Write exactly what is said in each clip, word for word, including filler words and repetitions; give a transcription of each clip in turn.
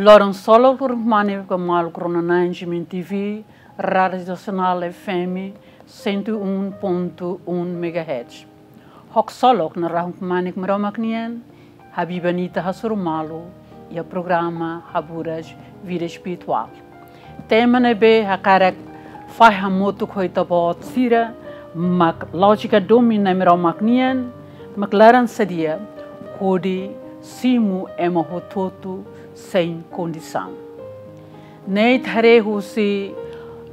Loron ksolok, loron kmanek ba maluk rona-na'in G M N T V, Rádio Nasionál F M cento e um ponto um megahertz. Haksolok narahun kmanek Maromak nian, habiban ita hasoru malu iha programa Haburas Vida Espirituál. Tema ne'ebé hakarak fahe hamutuk ho ita-boot sira, mak lójika domin Nai Maromak nian, mak laran sadia hodi simu ema hotu-hotu sein kondisaun. Ne'e ita haree husi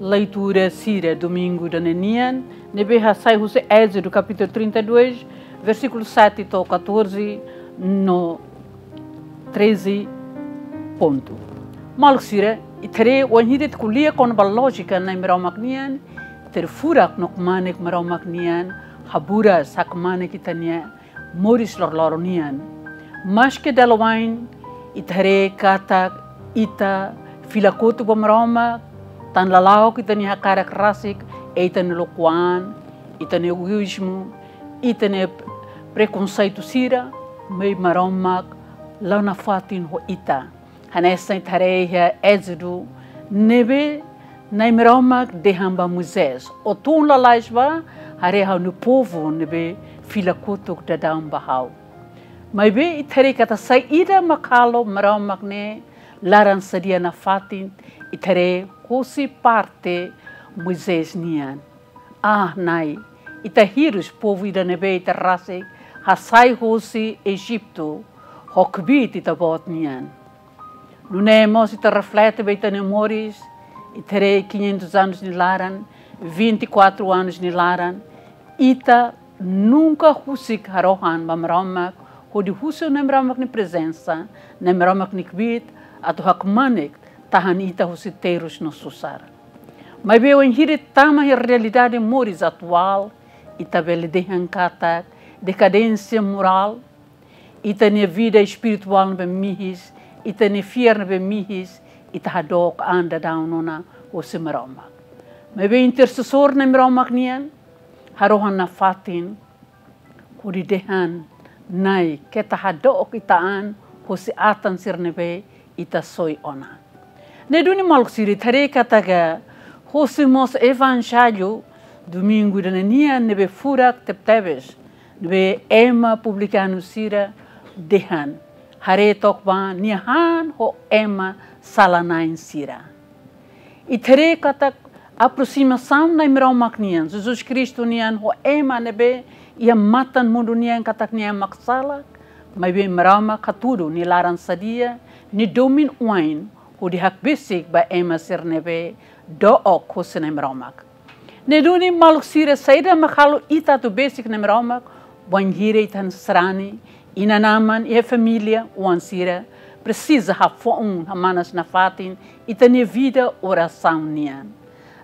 leitura sira domingu ida-ne'e nian, ne'ebé hasai husi Ézodu kapítulu trinta e dois, versíkulu sete to'o catorze, no treze pontu. Maluk sira, ita haree wainhira ita ko'alia kona-ba lójika Nai Maromak nian, ita haree furak no kmanek Maromak nian, haburas hakmanek ita-nia moris loroloron nian. Maske dala wa'in ita haree katak ita fila kotuk ba Maromak, tan lala'ok ita-nia hakarak rasik, ita-nia lokuan, ita-nia egoízmu, ita-nia prekonseitu sira, maibé Maromak la'o nafatin ho ita. Hanesan ita haree iha Ézodu, ne'ebé Nai Maromak dehan ba Moisés: Ó tun lalais bá, haree ha'u-nia povu ne'ebé fila kotuk daudaun ba ha'u. Maibé ita haree katak saida mak halo Maromak ne'e laran sadia nafatin, ita haree husi parte Moisés nian. Ah, Nai, ita hirus povu ida ne'ebé ita rasik hasai husi Ejitu, ho kbiit ita-boot nian. Nune'e mós ita reflete ba ita-nia moris, ita haree quinhentos anos nia laran, vinte e quatro anos nia laran, ita nunka husik harohan ba Maromak, hodi husu Nai Maromak nia prezensa, Nai Maromak nia kbiit, atu hakmanek tahan ita husi terus no susar. Maibé wainhira ita tama iha realidade moris atuál, ita bele dehan katak dekadénsia morál, ita-nia vida espirituál ne'ebé mihis, ita-nia fiar ne'ebé mihis, ita hadook an daudaun ona hosi Maromak. Maibé intersesór Nai Maromak nian, harohan nafatin, hodi dehan: Nai, keta hadook ita an hosi atan sira ne'ebé ita soi ona. Ne'e duni maluk sira, ita haree katak husi mós Evanjellu domingu ida-ne'e nian ne'ebé furak tebetebes, ne'ebé ema publikanu sira dehan: Haree took bá, Nia han ho ema sala-na'in sira. Ita haree katak aprosimasaun Nai Maromak nian, Jesus Kristu nian, ho ema ne'ebé iha matan mundu nian katak nia mak sala, maibé Maromak hatudu nia laran sadia, nia domin wa'in, hodi hakbesik ba ema sira ne'ebé dook husi Nai Maromak. Ne'e duni maluk sira, saida mak halo ita atu besik Nai Maromak, wainhira ita hanesan sarani, inan-aman, iha família, oan sira, presiza hafoun, hamanas nafatin ita-nia vida orasaun nian.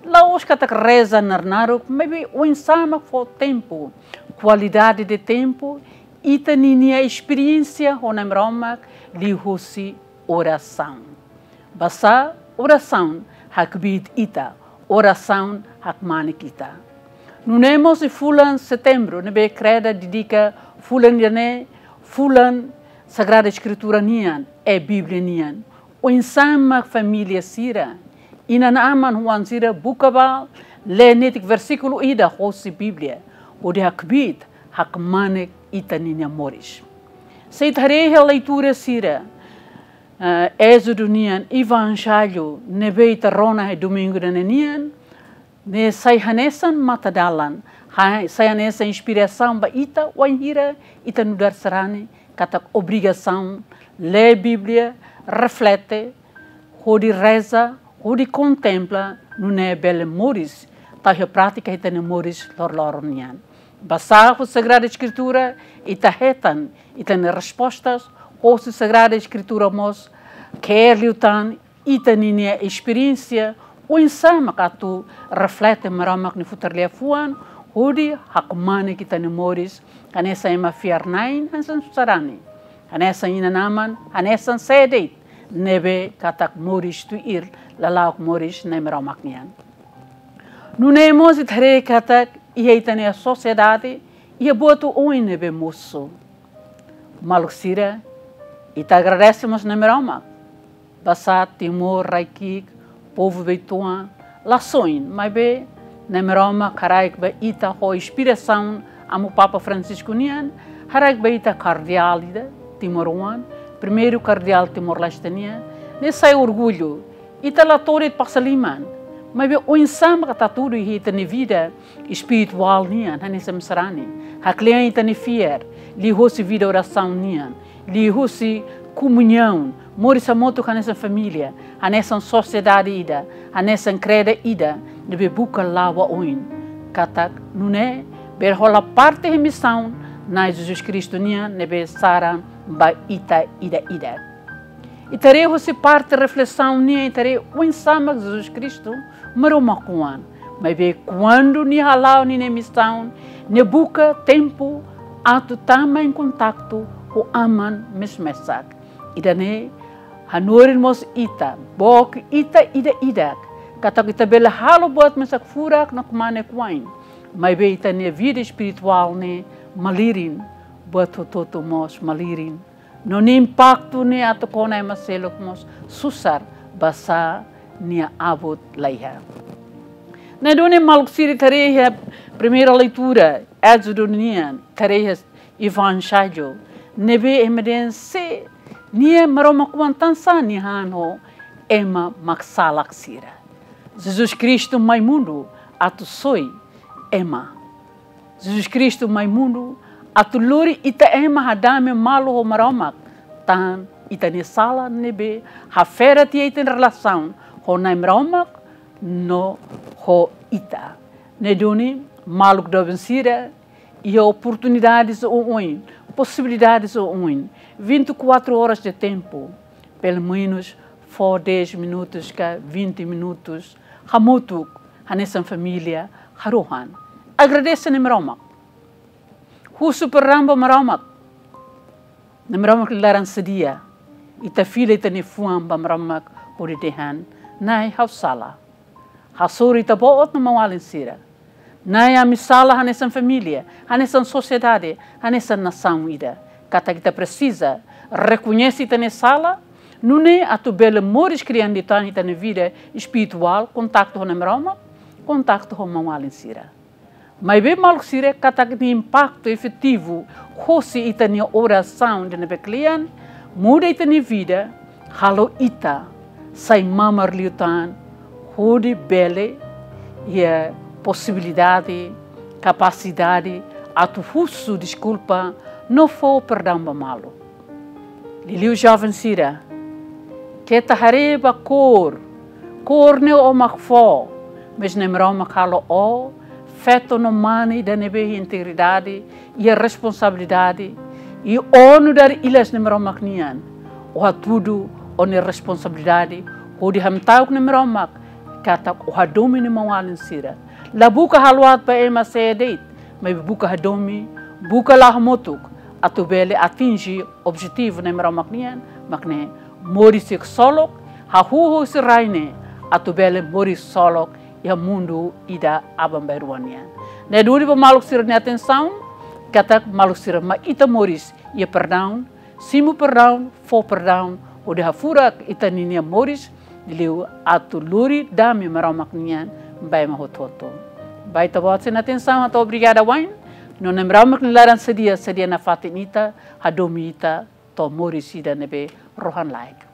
La'ós katak reza naruk-naruk, maibé oinsá mak fó tempu, kualidade de tempu, ita ninia esperiénsia ho Nai Maromak liuhusi orasaun. Basá orasaun hakbiit ita, orasaun hakmanek ita. Nune'e mós iha fulan Setembru, ne'ebé Kreda dedika fulan ida-ne'e, fulan Sagrada Eskritura nian, i Bíblia nian. Oinsá mak família sira, inan-aman, oan sira buka bá lee netik versíkulu ida hosi Bíblia, hodi hakbiit, hakmanek ita ninia moris. Se ita haree iha leitura sira, eh, Ézodu nian, Evanjellu ne'ebé ita rona iha domingu ida-ne'e nian, ne'e sai hanesan matadalan, ha-, sai hanesan inspirasaun ba ita, wainhira ita nu'udar sarani, katak obrigasaun lee Bíblia, reflete, hodi reza, hodi kontempla, nune'e bele moris, tau iha prátika ita-nia moris loroloron nian. Basá husi Sagrada Eskritura, ita hetan ita-nia respostas, husi Sagrada Eskritura mós ke'er liután ita ninia esperiénsia, oinsá mak atu reflete Maromak nia futar liafuan, hodi hakmanek ita-nia moris, hanesan ema fiar-na'in, hanesan sarani, hanesan inan-aman, hanesan sé de'it ne'ebé katak moris tuir, lala'ok moris Nai Maromak nian. Nune'e mós ita haree katak iha ita-nia sosiedade, iha buat oioin ne'ebé mosu. Maluk sira, ita agradese mós Nai Maromak. Basá Timor rai-ki'ik, povu beitu-an, la soin, maibé Nai Maromak haraik ba ita ho inspirasaun Amu Papa Francisco nian, haraik ba ita kardeál ida timoroan, primeiru kardeál Timor-Leste nian, ne'e sai orgullu. Ita la to'o de'it pasa liman, maibé oinsá mak ita hatudu iha ita-nia vida espirituál nian hanesan sarani, haklean ita-nia fiar liuhosi vida orasaun nian, liuhosi komuñaun, moris hamutuk hanesan família, hanesan sosiedade ida, hanesan kredu ida, ne'ebé buka la'o ba oin. Katak nune'e bele hola parte iha misaun Nai Jesus Kristu nian ne'ebé saran ba ita ida-idak. Ita haree husi parte reflesaun nian, ita haree oinsá mak Jesus Kristu Maromak oan. Maibé kuandu nia hala'o ninia misaun, nia buka tempu atu tama em kontaktu ho Aman mesak-mesak. Ida-ne'e hanorin mós ita, book ita ida-idak, katak ita bele halo buat mesak furak no kmanek wa'in, maibé ita-nia vida espirituál ne'e malirin, buat hotu-hotu mós malirin. No nia impaktu ne'e atu kona ema seluk mós susar, basá nia abut la iha. Ne'e duni maluk sira, ita haree iha primeira leitura, Ézodu nian, ita haree iha Evanjellu, ne'ebé ema dehan se nia Maromak oan, tansá nia han ho ema maksalak sira. Jesus Kristu mai mundu atu soi ema. Jesus Kristu mai mundu atu lori ita ema hadame malu ho Maromak, tan ita-nia sala ne'ebé hafera tiha ita-nia relasaun ho Nai Maromak no ho ita. Ne'e duni maluk doben sira, iha oportunidades oioin, posibilidades oioin, vinte e quatro horas de tempo, pelo menos fó dez minutos ka vinte minutos hamutuk hanesan família harohan. Agradese Nai Maromak. Husu perdaun ba Maromak. Nai Maromak nia laran sadia. Ita fila ita-nia fuan ba Maromak hodi dehan: Nai, ha'u sala. Hasoru Ita-Boot no maun-alin sira. Nai, ami sala hanesan família, hanesan sosiedade, hanesan nasaun ida. Katak ita presiza rekoñese ita-nia sala, nune'e atu bele moris krian liután ita-nia vida espirituál, kontaktu ho Nai Maromak, kontaktu ho maun-alin sira. Maibé maluk sira, katak nia impaktu efetivu hosi ita-nia orasaun ida ne'ebé kle'an, muda ita-nia vida, halo ita sai mamar liután, hodi bele iha posibilidade, kapasidade atu husu deskulpa no fó perdaun ba malu. Liuliu joven sira, keta haree ba kór, kór ne'e ó mak fó, mas Nai Maromak halo ó feto no mane ida ne'ebé iha integridade, iha responsabilidade, i ó nu'udar ilas Nai Maromak nian, ó hatudu ó-nia responsabilidade hodi hamta'uk Nai Maromak, katak ó hadomi ó-nia maun-alin sira. La buka halo aat ba ema sé de'it, maibé buka hadomi, buka la'o hamutuk, atu bele atinje objetivu Nai Maromak nian, mak ne'e moris ksolok, hahú husi rai ne'e, atu bele moris ksolok iha mundu ida aban-bainrua nian. Ne'e duni ba maluk sira-nia atensaun, katak maluk sira mai ita moris iha perdaun, simu perdaun, fó perdaun, hodi hafurak ita ninia moris, liuliu atu lori dame Maromak nian ba ema hotu-hotu. Ba Ita-Boot sira-nia atensaun hato'o obrigada wa'in, no Nai Maromak nia laran sadia, sadia nafatin ita, hadomi ita to'o moris ida ne'ebé rohan-laek.